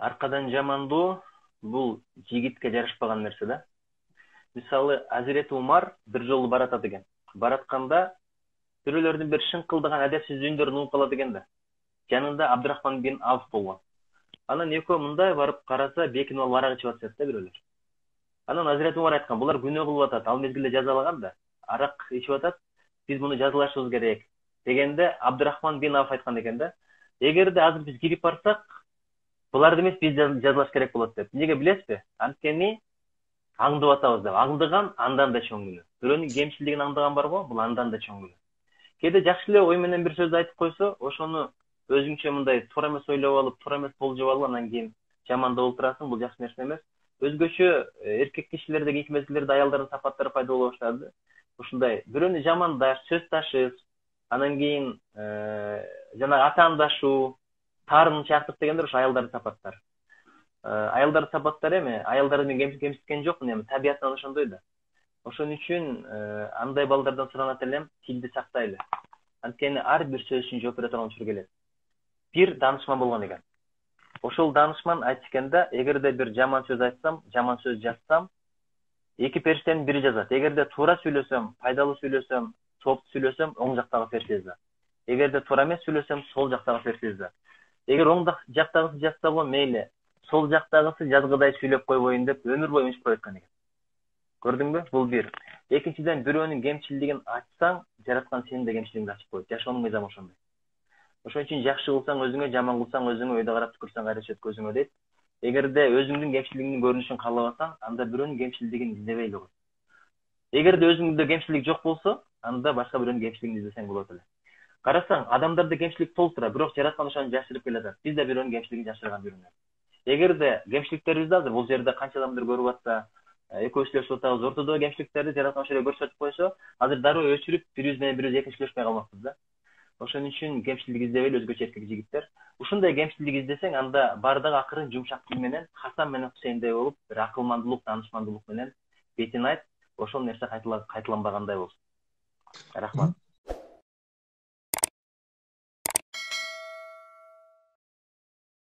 аркадан жамандоо бул жигитке жарашпаган нерсе да. Мисалы, Азирети Умар бир жолу баратат экен. Баратканда бирөөлөрдүн бир шыңкылдаган адепсиз үндөрүн угуп калат экен да. Жанында Абдурахман бин Авф болгон. Анан экөө мындай барып караса, бекинип алып арак ичип атышат да бирөөлөр. Анан Азирети Умар айткан, булар күнөө кылып атат, ал мезгилде жазалаган да. Арак ичип атат, биз муну жазалашыбыз керек дегенде Абдурахман бин Авф айткан экен да. Эгерде азыр биз кирип барсак, буларды эмес биз жазалаш керек болот деп. Эмнеге билесизби? Анткени аңдып атабыз деп. Аңдыган андан да чоң күнөө. Бирөөнүн кемчилигин аңдыган барго, бул андан да чоң күнөө. Кээде жакшы эле ой менен бир сөз айтып койсо, ошону өзүңчө мындай туура эмес ойлоп алып, туура эмес болжоп алып, анан кийин жамандап отурасың, бул жакшы нерсе эмес. Өзгөчө эркек кишилердеги эки мезгилдерде аялдардын сапаттары пайда боло баштады. Ушундай бирөөнү жамандаш, сөз ташыс, анан кийин жана атаандашуу, таарынчаактык дегендер ошо аялдардын сапаттары. Аялдардын сапаттары эми аялдарды мен кемситкен жокмун, эми табиятынан ошондой да. Ошон үчүн андай балдардан суранат элем, тилди сактайлы. Анткени ар бир сөз үчүн жооп бере турган учур келет. Бир даанышман болгон экен. Ошол даанышман айтканда, эгерде бир жаман сөз айтсам, жаман сөз жазсам, эки периштенин бири жазат. Эгерде туура сүйлөсөм, пайдалуу сүйлөсөм, сооптуу сүйлөсөм, оң жактагы периште жазат. Эгерде туура эмес сүйлөсөм, сол жактагы периште жазат. Эгер оң жактагысы жазса го мейли, сол жактагысы жазгыдай сүйлөп койбойюн деп өмүр бою унчуп коюп аткан экен. Көрдүңбү? Бул бир. Экинчиден, бирөөнүн кемчилигин ачсаң, жараткан сенин да кемчилигиңди ачып коет. Жашоонун мыйзамы ошондой. Ошон үчүн жакшы кылсаң өзүңө, жаман кылсаң өзүңө, өйдө карап түкүрсөң кайра чет көзүңө дейт. Эгерде өзүңдүн кемчилигиңдин көрүнүшүн каалабасаң, анда бирөөнүн кемчилигин издебей эле кой. Эгерде өзүңдө кемчилик жок болсо, анда башка бирөөнүн кемчилигин издесең болот эле. Карасаң, адамдарда кемчилик толтура, бирок жараткан ошону жашырып келатат. Биз да бирөөнүн кемчилигин жашырган жүрүнөбүз. Эгерде кемчиликтерибизди азыр бул жерде канча адамдар көрүп атса, экөөбүз сүйлөшүп атабыз, ортодогу кемчиликтерди жараткан ошол эле көрсөтүп койсо, азыр дароо өчүрүп, бирибиз менен бирибиз эркин сүйлөшпөй калмакпыз да. Ошон үчүн кемчилик издебейли, өзгөчө эркек жигиттер. Ушундай кемчилик издесең, анда бардыгы акырын жумшак тил менен, Хасан менен Хусейндей болуп, бир акылмандуулук, даанышмандуулук менен бетин айт, ошол нерсе кайталанбагандай болсун. Рахмат.